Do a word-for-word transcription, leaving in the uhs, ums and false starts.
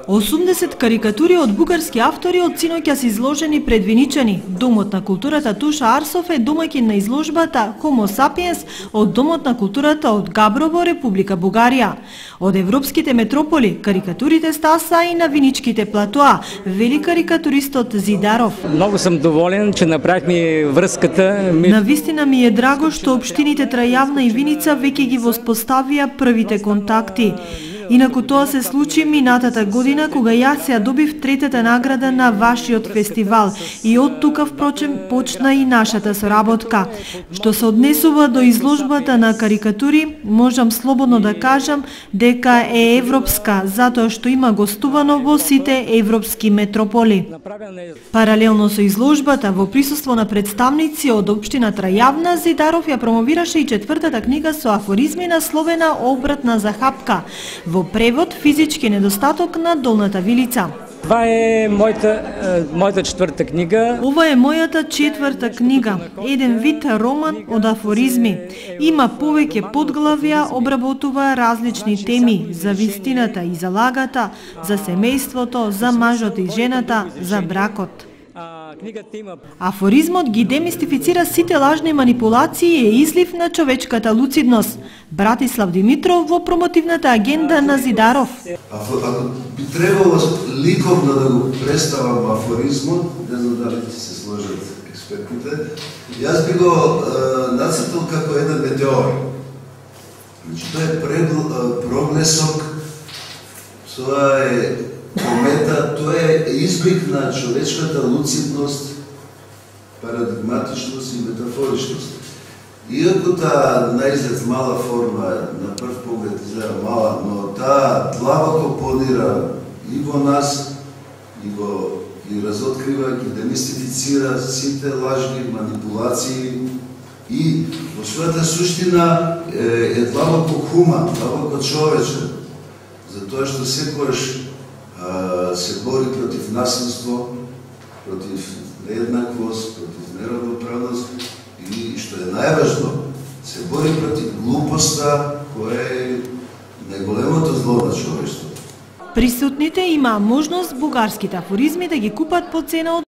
осумдесет карикатури од бугарски автори од синоќа се изложени пред Виничани. Домот на културата Туша Арсов е домаќин на изложбата Homo sapiens од Домот на културата од Габрово, Република Бугарија. Од европските метрополи карикатурите стаса и на Виничките платоа, вели карикатуристот Зидаров. Многу сум доволен, че направихме врската. Навистина ми е драго што општините Трајавна и Виница веќе ги воспоставија првите контакти. Инаку тоа се случи минатата година кога јас ја добив третата награда на вашиот фестивал и од тука впрочем почна и нашата соработка. Што се однесува до изложбата на карикатури, можам слободно да кажам дека е европска, затоа што има гостувано во сите европски метрополи. Паралелно со изложбата, во присуство на представници од општина Трајавна, Зидаров ја промовираше и четвртата книга со афоризми насловена Обратна захапка, во превод Физички недостаток на Долната Вилица. Това е мојата, мојата четврта книга. Ова е мојата четврта книга, еден вид роман од афоризми. Има повеќе подглавја, обработува различни теми за вистината и за лагата, за семејството, за мажот и жената, за бракот. Афоризмот ги демистифицира сите лажни манипулации и е излив на човечката луцидност. Братислав Димитров во промотивната агенда на Зидаров. Ако би требало ликовно да го представам афоризмот, не знам дали ќе се сложат експертите, јас би го е, нацртал како еден метеор. Значи, тоа е прогнесок, тоа е комета, тоа е изблик на човечката луцидност, парадигматичност и метафоричност. Иако таа наизглед мала форма, на прв поглед изгледа мала, но таа длабоко понира и во нас, и го ги разоткрива, ги демистифицира сите лажни манипулации и во својата суштина е, е длабоко хуман, длабоко човечен, затоа што секогаш се бори против насилство, против нееднаквост, против неравноправност и, што е најважно, се бори против глупоста, која е најголемото зло на човештвото. Присутните имаа можност бугарските афоризми да ги купат по цена од